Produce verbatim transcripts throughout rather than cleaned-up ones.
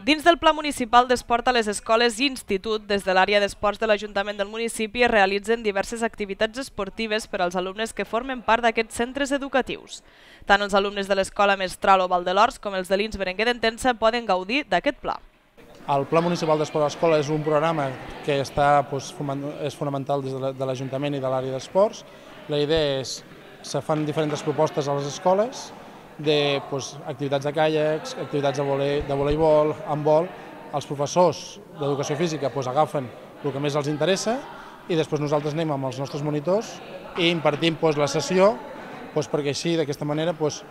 Dins del Pla Municipal d'Esport a les escoles i institut, des de l'àrea d'esports de l'Ajuntament del municipi es realitzen diverses activitats esportives per als alumnes que formen part d'aquests centres educatius. Tant els alumnes de l'Escola Mestral o Valdelors com els de l'I N S Berenguer d'Entença poden gaudir d'aquest pla. El Pla Municipal d'Esport a l'Escola és un programa que està, doncs, és fonamental des de l'Ajuntament i de l'àrea d'esports. La idea és que se fan diferents propostes a les escoles de doncs, activitats de caiacs, activitats de, vole, de voleibol, handbol. Els professors d'educació física doncs, agafen el que més els interessa i després nosaltres anem amb els nostres monitors i impartim doncs, la sessió doncs, perquè així, d'aquesta manera, doncs,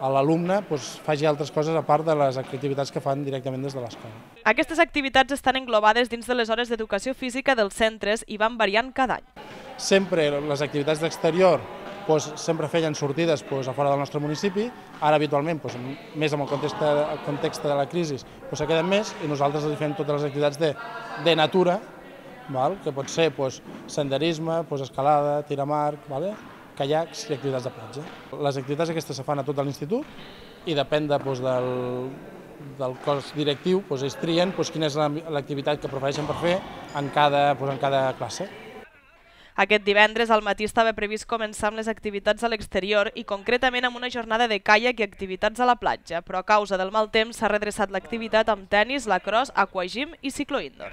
l'alumne doncs, faci altres coses a part de les activitats que fan directament des de l'escola. Aquestes activitats estan englobades dins de les hores d'educació física dels centres i van variant cada any. Sempre les activitats d'exterior doncs, sempre feien sortides doncs, a fora del nostre municipi. Ara habitualment, doncs, més amb el context, el context de la crisi, doncs, se queden més i nosaltres els fem totes les activitats de, de natura, val? Que pot ser doncs, senderisme, doncs, escalada, tir amb arc, vale? Caiacs i activitats de platja. Les activitats aquestes se fan a tot l'institut i depèn de, doncs, del, del cos directiu, doncs, ells trien doncs, quina és l'activitat que prefereixen per fer en cada, doncs, en cada classe. Aquest divendres al matí estava previst començar amb les activitats a l'exterior i concretament amb una jornada de caiac i activitats a la platja, però a causa del mal temps s'ha redreçat l'activitat amb tennis, lacrosse, aquagym i cicloindoor.